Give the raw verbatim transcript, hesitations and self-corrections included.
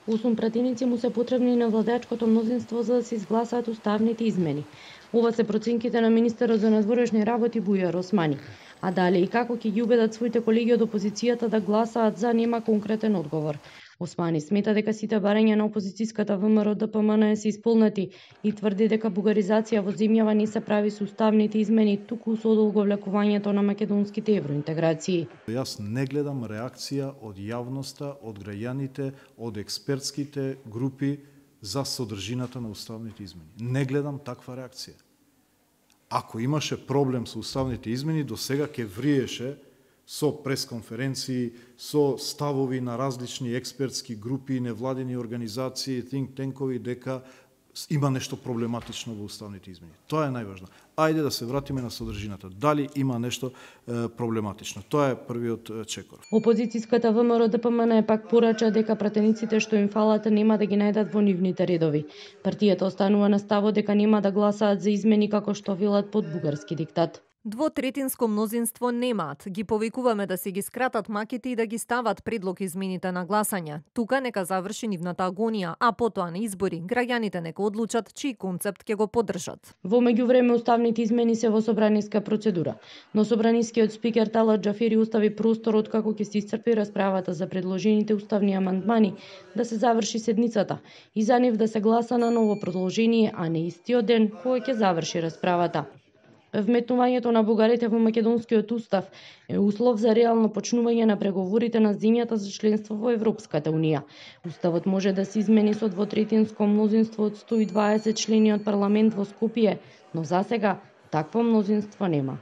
Осум пратеници му се потребни на владеачкото мнозинство за да се изгласаат уставните измени. Ова се проценките на министерот за надворешни работи Бујар Османи. А дали и како ќе ги убедат своите колеги од опозицијата да гласаат за, нема конкретен одговор. Османи смета дека сите барања на опозицијската ВМРО Д П М Н се исполнети и тврди дека бугаризација во земјава не се прави со уставните измени, туку со одолговлекувањето на македонските евроинтеграции. Јас не гледам реакција од јавноста, од граѓаните, од експертските групи за содржината на уставните измени. Не гледам таква реакција. Ако имаше проблем со уставните измени, до сега ќе вриеше со пресконференции, со ставови на различни експертски групи, невладени организации, think tankoви, дека има нешто проблематично во уставните измени. Тоа е најважно. Ајде да се вратиме на содржината. Дали има нешто е, проблематично? Тоа е првиот чекор. Опозицијската ВМРО Д П М Н пак порача дека пратениците што им фалат нема да ги најдат во нивните редови. Партијата останува на ставот дека нема да гласаат за измени како што велат под бугарски диктат. Двотретинско мнозинство немаат. Ги повикуваме да се ги скратат маките и да ги стават предлог измените на гласање. Тука нека заврши нивната агонија, а потоа на избори граѓаните нека одлучат чиј концепт ќе го поддржат. Во меѓувреме уставните измени се во собраниска процедура, но собранискиот спикер Талат Џафери остави простор откако ќе се исцрпи расправата за предложените уставни амандмани да се заврши седницата и за нив да се гласа на ново продолжение, а не истиот ден кога ќе заврши расправата. Вметнувањето на бугарите во македонскиот устав е услов за реално почнување на преговорите на земјата за членство во Европската унија. Уставот може да се измени со двотретинско мнозинство од сто и дваесет члени од парламент во Скопје, но засега такво мнозинство нема.